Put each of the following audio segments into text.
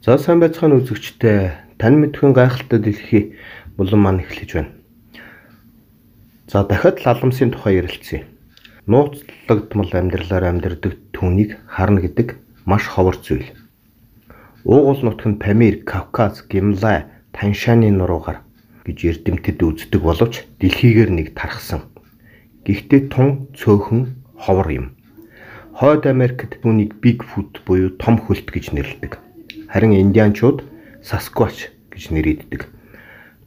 За сайн байцгаана үзэгчдээ. Тань мэдхэн гайхалтай дэлхий булан маань эхлэж байна. За дахиад лаламсын тухай ярилцъя. Нууцлагдмал амьдралаар амьдардаг түүнийг харна гэдэг маш ховор зүйл. Уугуул нутаг нь Памир, Кавказ, Гималай, Таншааны нуруугаар гэж эрдэмтэд үздэг боловч дэлхийгээр нэг тархсан. Гэхдээ тун цөөхөн ховор юм. Хойд Америкт түүнийг Bigfoot буюу том хөлт гэж нэрлэдэг. Харин индианчууд Sasquatch гэж нэрийддэг.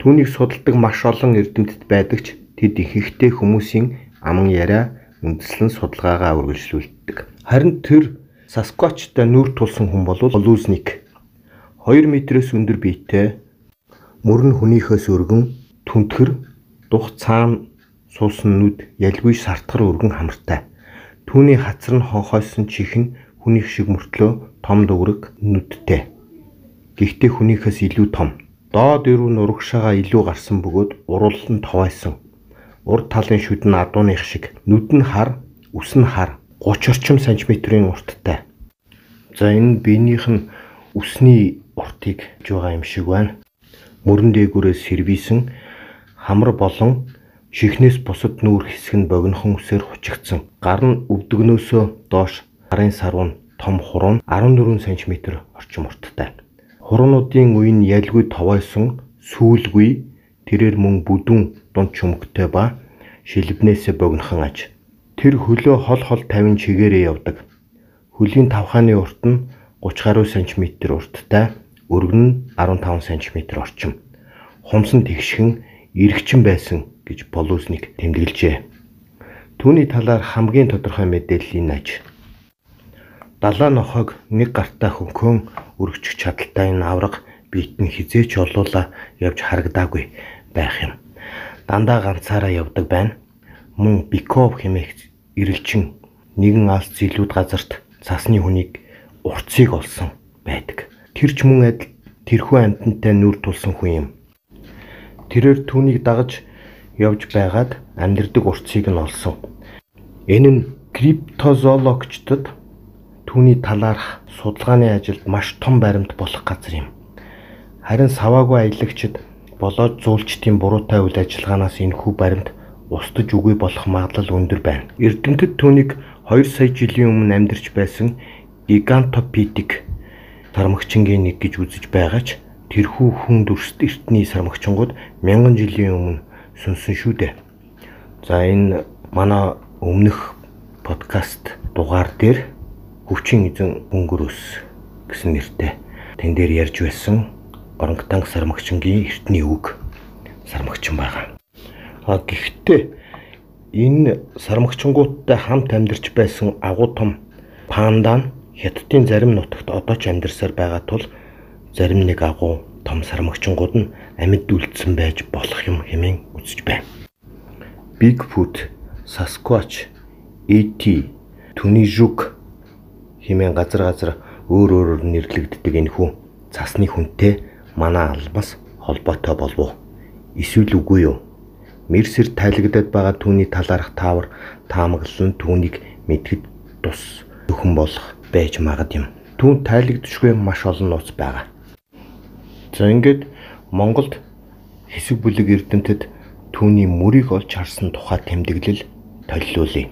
Түүнийг судалдаг маш олон эрдэмтэд байдаг ч тэд ихэнхдээ хүмүүсийн аман яриа үндэслэн судалгаагаа үргэлжлүүлдэг. Харин тэр Sasquatch-тай нүүр тулсан хүн бол Лузник. 2 метрээс өндөр биетэй, мөр нь хүнийхээс өргөн, түнтгэр, дух цаана суусан нүд ялгүй сартгар өргөн хамартай. Түүний хацар нь хонхойсон чих нь хүнийх шиг мөртлөө том дүүрэг нүдтэй. Гэхдээ хүнийхээс илүү том. Доод ирүү нурагшаага илүү гарсан бөгөөд урал нь товайсан. Урд талын шүд нь адууных шиг. Нүд нь хар, үс нь хар. 30 орчим сантиметрийн урттай. За энэ биенийх нь үсний уртыг гэж байгаа юм шиг байна. Мөрөн дээгүүрээс сэрвийсэн хамар болон чихнээс бусад нүүр хэсэг нь богинохон үсээр хучигдсан. Гар нь өвдөгнөөсөө доош гарын сарвуу том хуруу 14 см орчим урттай. Хуруунуудын үе нь ялгүй товойсон, сүүлгүй, тэрээр мөн бүдүүн дунд чөмгтэй ба шилбнээсээ богинохон аж. Тэр хөлөө хол тавин чигээрээ явдаг. Хөлийн тавхааны урт нь 30 гаруй см урттай, өргөн нь 15 см орчим. Хумс нь тэгшхэн, эргчин байсан гэж Полузник тэмдэглэжээ. Түүний талаар хамгийн тодорхой мэдээллийн аж. Далаа нохойг нэг гартаа хөнхөн өргөчих чадaltaй энэ авраг биет нь хизээч олуула явж харагдаагүй байх юм. Дандаа ганцаараа явдаг байна. Мөн Биков хэмээх ирэлчин нэгэн алс зилүүд газарт цасны хүнийг урцыг олсон байдаг. Тэр ч мөн адил тэрхүү амьтантай нүүр тулсан хүн юм. Тэрээр түүнийг дагаж явж байгаад амьдардаг урцыг нь олсон. Энэ нь криптозоологчдод түүний талаарх судалгааны ажилд маш том баримт болох газар юм. Харин саваагүй аялагчид болоод зүүлчдийн буруутай үйл ажиллагаанаас энэхүү баримт устж үгүй болох магадлал өндөр байна. Эрдэмтэд түүнийг 2 сая жилийн өмнө амьдарч байсан гигантопитек сармагчингийн нэг гэж үзэж байгаа ч тэрхүү хүн дүрст эртний сармагчингууд 1000 жилийн өмнө сүнсэн шүү дээ. За энэ манай өмнөх подкаст дугаар дээр Хөвчин эзэн өнгөрөөс гэсэн нэртэй тэн дээр ярьж байсан орангутанг сармагчингийн эртний үг сармагчин байгаа. Гэхдээ энэ сармагчингуудтай хамт амьдарч байсан агуу том панда нь Хятадын зарим нутагт одоо ч амьдарсаар байгаа тул зарим нэг агуу том сармагчингууд нь амьд үлдсэн байж болох юм хэмээн үзэж байна. Bigfoot, Sasquatch, ET, түүний жук хэмээн газар өөр нэрлэгддэг энэхүү цасны хүнтэй манай алмас холбоотой болов уу? Эсвэл үгүй юу? Мерсер тайлагдаад байгаа түүний талаарх таавар таамаглал нь түүнийг мэдгэд тус өхөн болох байж магад юм. Түүнд тайлагдчихгүй маш олон нууц байгаа. За ингээд Монголд хэсэг бүлэг эрдэмтэд түүний мөрийг олж харсан тухай тэмдэглэл толилуулъя.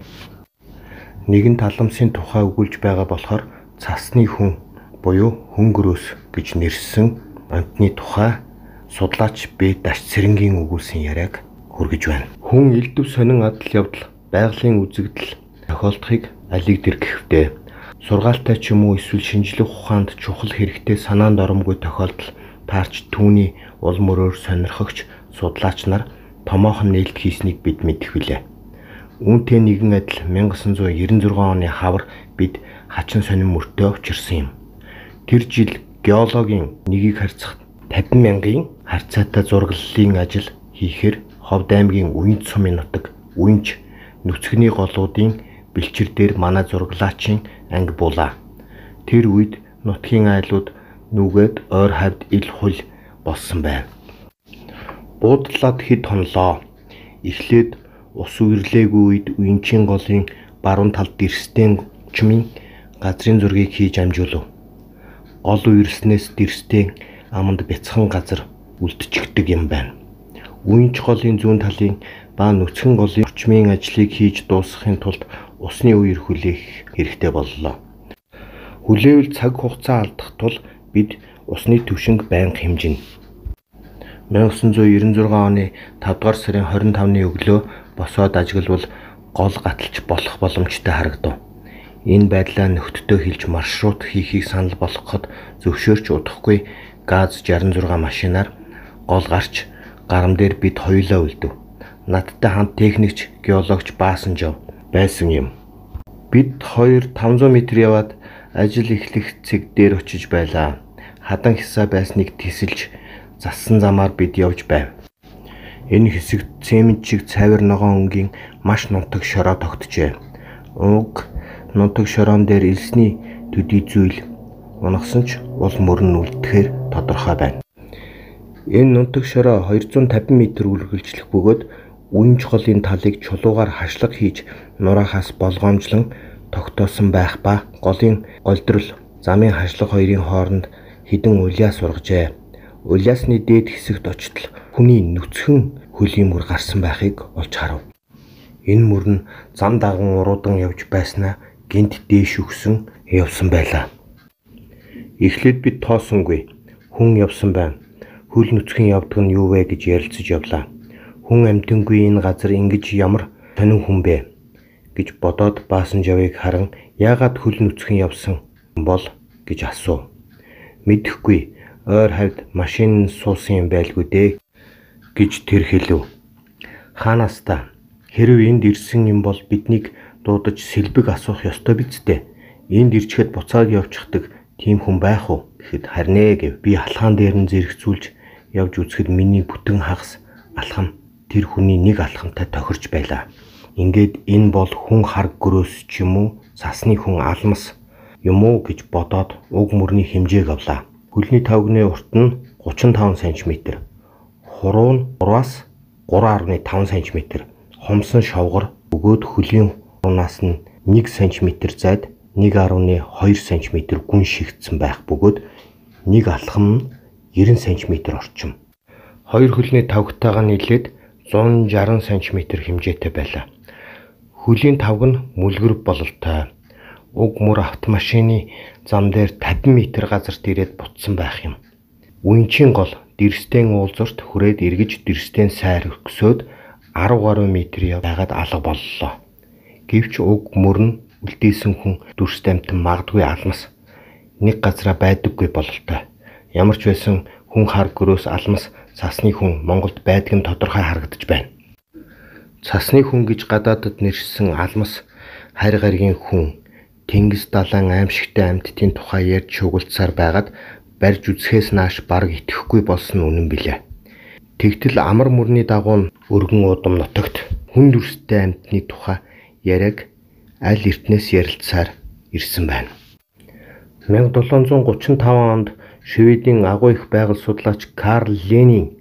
Нэгэн таламсын тухай өгүүлж байгаа болохоор цасны хүн буюу хөнгөрөөс гэж нэрсэн амтны тухай судлаач Б-Даш Цэрэнгийн өгүүлсэн яриаг хүргэж байна. Хүн элдв сонин адал явдал, байгалийн үзэгдэл тохиолдохыг алиг дэр гэвтээ сургаалтай ч юм уу эсвэл шинжлэх ухаанд чухал хэрэгтэй санаанд оромгүй тохиолдол таарч түүний ул мөрөөр сонирхогч судлаач нар томоохон нээлт хийснийг бид мэдэх билээ. Үүнтэй нэгэн адил 1996 оны хавар бид хачин сонин мөртөө учирсан юм. Тэр жил геологийн нэгийг харьцах 50,000-ын харьцаатай зураглалын ажил хийхээр Ховд аймгийн Уянч сумын нутаг Уянч нүцгний голуудын бэлчир дээр манай зураглаачийн анги булаа. Тэр үед нутгийн айлууд нүгээд ойр хавьд ил хул болсон байна. Буудлаад хэд хонлоо. Эхлээд ус үрлээгүй үед Уянчийн голын баруун талд дэрсдэн чимийн газрын зургийг хийж амжуулав. гол үерснээс дэрстэй аманд бяцхан газар үлдчихдэг юм байна. Үенч голын зүүн талын ба нүцгэн голын орчмын ажлыг хийж дуусгахын тулд усны үер хүлээх хэрэгтэй боллоо. Хүлээвэл цаг хугацаа алдах тул бид усны түвшинг байнга хэмжинэ. 1996 оны 5 дугаар сарын 25-ны өглөө босоод ажиглавал гол гаталж болох боломжтой харагдав. Энэ байдлаа нөхдөдөө хэлж маршрут хийхийг санал болгоход зөвшөөрч удахгүй ГАЗ 66 машинаар гол гарч гарам дээр бид хоёулаа үлдэв. Надтай хамт техникч, геологч Баасан Жав байсан юм. Бид хоёр 500 м яваад ажил эхлэх цэг дээр очиж байлаа. Хадан хисаа байсныг тесэлж зассан замаар бид явж байв. Энэ хэсэгт цемент шиг цавир ногоон өнгийн маш нутаг шороо тогтжээ. Уг нутаг шороон дээр элсний төдий зүйл унагсан ч уул мөрөн үлдэхээр тодорхой байна. Энэ нутаг шороо 250 м үргэлжлэх бөгөөд үенч голын талыг чулуугаар хашлаг хийж нураахаас болгоомжлон тогтоосон байх ба голын голдрол замын хашлаг хоёрын хооронд хідэн улиас ургажээ. Улиасны дээд хэсэгт очтол хүний нүцгэн хөлийн мөр гарсан байхыг олж харав. Энэ мөр нь зам даган уруудан явж байснаа гинт дээш өгсөн явсан байлаа. Эхлээд бид тоосонгүй. Хүн явсан байна. Хөл нүцгэн явдаг нь юу вэ гэж ярилцаж явлаа. Хүн амьтангүй энэ газар ингэж ямар сонин хүн бэ гэж бодоод Баасан Жавыг харан яагаад хөл нүцгэн явсан бол гэж асуув. Мэдэхгүй, ойр хавьд машин суусан юм байлгүй дээ гэж тэр хэлв. Хаанаас та хэрв энд ирсэн юм бол биднийг дуудаж сэлбэг асуух ёстой биз дээ. Энд ирчихэд буцаад явчихдаг тийм хүн байх уу гэхэд харин ээ гэв. Би алхаан дээр нь зэрэгцүүлж явж үзэхэд миний бүтэн хагас алхам тэр хүний нэг алхамтай тохирч байлаа. Ингээд энэ бол хүн хар гөрөөс ч юм уу сасны хүн алмас юм уу гэж бодоод уг мөрний хэмжээг авлаа. Хөлний тавгны урт нь 35 см, хуруу нь 3-аас 3.5 см, хомсон шовгор бөгөөд хөлийн хунаас нь 1 см зайд 1.2 см гүн шигдсэн байх бөгөөд нэг алхам нь 90 см орчим. Хоёр хөлний тавгтайгаа нийлээд 160 см хэмжээтэй байлаа. Хөлийн тавг нь мүлгэр бололтой. Уг мөр автомашины зам дээр 50 м газарт ирээд бутсан байх юм. Үенчийн гол дэрсдэн уулзурт хүрээд эргэж дэрсдэн сайр өксөөд 10 гаруй метр яваад алга боллоо. Гэвч уг мөр нь үлдээсэн хүн дүрст амтан магадгүй алмас нэг газараа байдаггүй бололтой. Ямар ч байсан хүн хар гөрөөс алмас цасны хүн Монголд байдаг нь тодорхой харагдаж байна. Цасны хүн гэж гадаадд нэршсэн алмас харь гаригийн хүн Тэнгис далайн аимшигтай амьтдын тухай ярьж шугуулцаар байгаад барьж үзэхээс нааш бараг итгэхгүй болсон үнэн билээ. Тэгтэл амар мөрний дагуу өргөн удам нутагт хүн дүрстэй амьтны тухай яриаг аль эртнээс ярилцсаар ирсэн байна. 1735 онд Шведийн агуу их байгаль судлаач Карл Ленин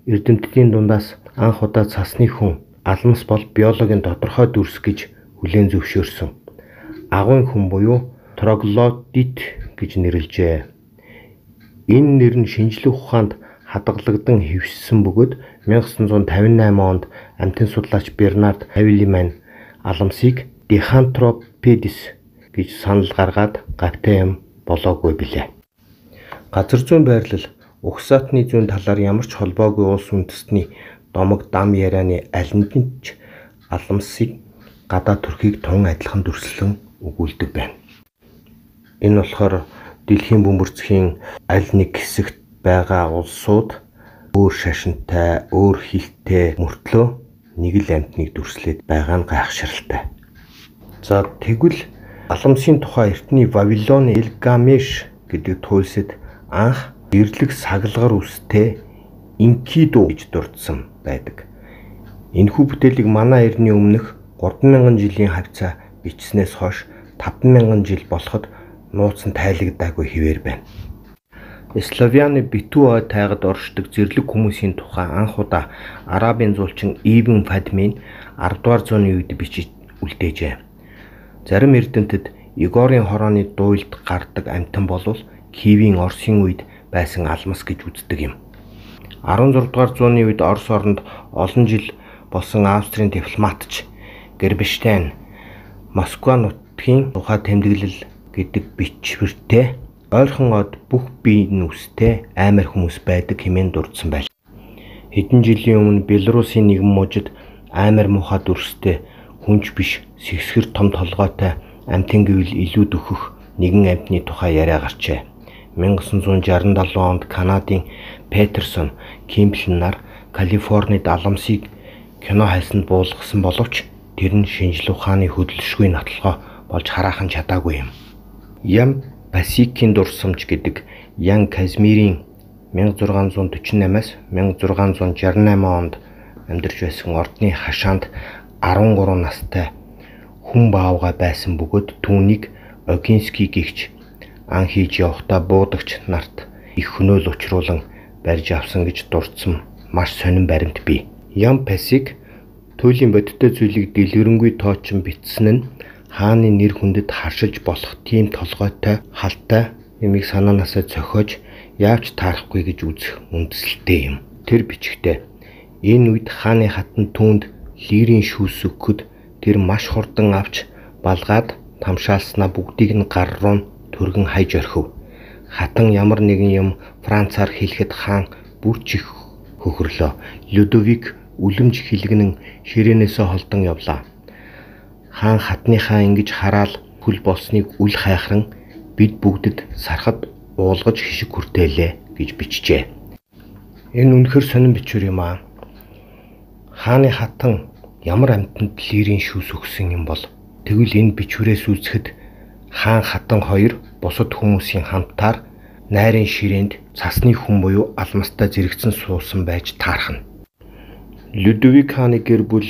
эрдэмтдийн дундаас анх удаа цасны хүн алмас бол биологийн тодорхой дүрс гэж хүлээн зөвшөөрсөн. Агуйн хүн буюу троглодит гэж нэрлэжээ. Энэ нэр нь шинжлэх ухаанд хадгалагдан хэвшсэн бөгөөд 1958 онд амьтан судлаач Бернард Хавилиман алмсыг дихантропедис гэж санал гаргаад гавтай юм болоогүй билээ. Газар зүйн байрлал угсаатны зүүн талаар ямар ч холбоогүй улс үндэстний домог дам ярианы аль нь ч алмсыг гадаа төрхийг тун адилхан дүрслэн өгүүлдэг байна. Энэ болохоор дэлхийн бөмбөрцгийн аль нэг хэсэгт байгаа улсууд өөр шашинтай, өөр хэлтэй мөртлөө нэг л амьтныг дүрслээд байгаа нь гайхширалтай. За тэгвэл алмсын тухай эртний Вавилоны Илгамеш гэдэг туульсад анх эрлэг сагалгар үстэй Инкиду гэж дурдсан байдаг. Энэхүү бүтээлийг манай эртний өмнөх 3000 жилийн хавцаа бичснээс хойш 5000 жил болоход нууцсан тайлагдаагүй хэвээр байна. Славяны битүү ой тайгад оршдог зэрлэг хүмүүсийн тухай анх удаа Арабын зуулчин Ибн Фадмин 10 дугаар зууны үед бичиж үлдээжээ. Зарим эрдэмтэд Игорийн хорооны дуйлд гардаг амьтан болвол Киевийн Оросын үед байсан алмас гэж үздэг юм. 16 дугаар зууны үед Орос оронд олон жил болсон Австрийн дипломатч Гербштейн Москва нутгийн тухай тэмдэглэл гэдэг бичвэртэй ойрхон од бүх бие нүстэй аймар хүмүүс байдаг хэмээн дурдсан байл. Хэдэн жилийн өмнө Белорусын нэгэн мужид аймар муухай дүрстэй хүнч биш сэгсгэр том толгойтой амьтан гэвэл илүүд өгөх нэгэн амьтны тухай яриа гарчээ. 1967 онд Канадын Петерсон Кимбл нар Калифорнид аламсыг кино хайсанд буулгасан боловч тэр нь шинжлэх ухааны хөдөлшгүй нотлохоо болж хараахан чадаагүй юм. Ям Пасикийн дурсамж гэдэг Ян Казмирийн 1648-аас 1668 онд амьдарч байсан ордны хашаанд 13 настай хүн баавгай байсан бөгөөд түүнийг Огинский гэгч ан хийж явахдаа буудагч нарт их хөнөөл учруулан барьж авсан гэж дурдсан маш сонин баримт бий. Ям Пасик туйлын бодиттой зүйлийг дэлгэрэнгүй тоочин бичсэн нь хааны нэр хүндэд харшилж болох тийм толгойтой халтай юмыг санаанаасаа цохиож яавч таарахгүй гэж үзэх үндэслэлтэй юм. Тэр бичгтээ энэ үед хааны хатан түүнд лирийн шүүс өгөхөд тэр маш хурдан авч балгаад тамшаалснаа бүгдийг нь гар руу түргэн хайж орхив. Хатан ямар нэгэн юм Францаар хэлэхэд хаан бүр чих хөхрлөө. Людовик үлэмж хилгэнэн ширээнээсээ холдон явлаа. Хаан хатныхаа ингэж хараал хүл болсныг үл хайхран бид бүгдэд сархад уулгаж хишиг хүртээлээ гэж бичжээ. Энэ үнэхэр сонин бичвэр юм аа. Хааны хатан ямар амьтанд лирийн шүүс өгсөн юм бол тэгвэл энэ бичвэрээс үзэхэд хаан хатан хоёр бусад хүмүүсийн хамтаар найрын ширээнд цасны хүн буюу алмастай зэрэгцэн суусан байж таархна. Людовик хааны гэр бүл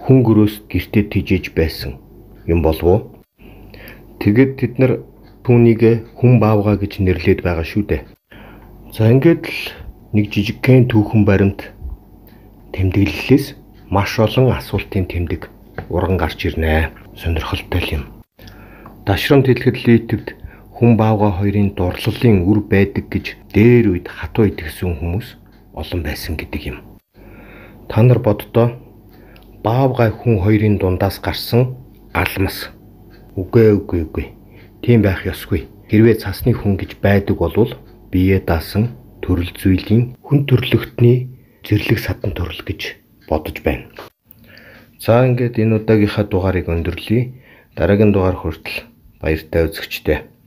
хүн гөрөөс гэртээ тижээж байсан юм болов уу? Тэгэд тэд нар түүнийг хүн баавгаа гэж нэрлээд байгаа шүү дээ. За ингээд л нэг жижигхэн түүхэн баримт тэмдэглэлээс маш олон асуултын тэмдэг урган гарч ирнэ. Сонирхолтой юм. Дашрамт хэлэхэд литвд хүн баавгаа хоёрын дурлалын үр байдаг гэж дээр үед хатуу итгэсэн хүмүүс олон байсан гэдэг юм. Та нар боддоо баавгай хүн хоёрын дундаас гарсан алмас. Үгүй. Тийм байх ёсгүй. Хэрвээ цасны хүн гэж байдаг болвол бие даасан төрөл зүйлийн хүн төрлөختний зэрлэг садан төрөл гэж бодож байна. За ингээд энэ удаагийнхаа дугаарыг өндөрлөе. Дараагийн дугаар хүртэл баяртай үзэгчдээ.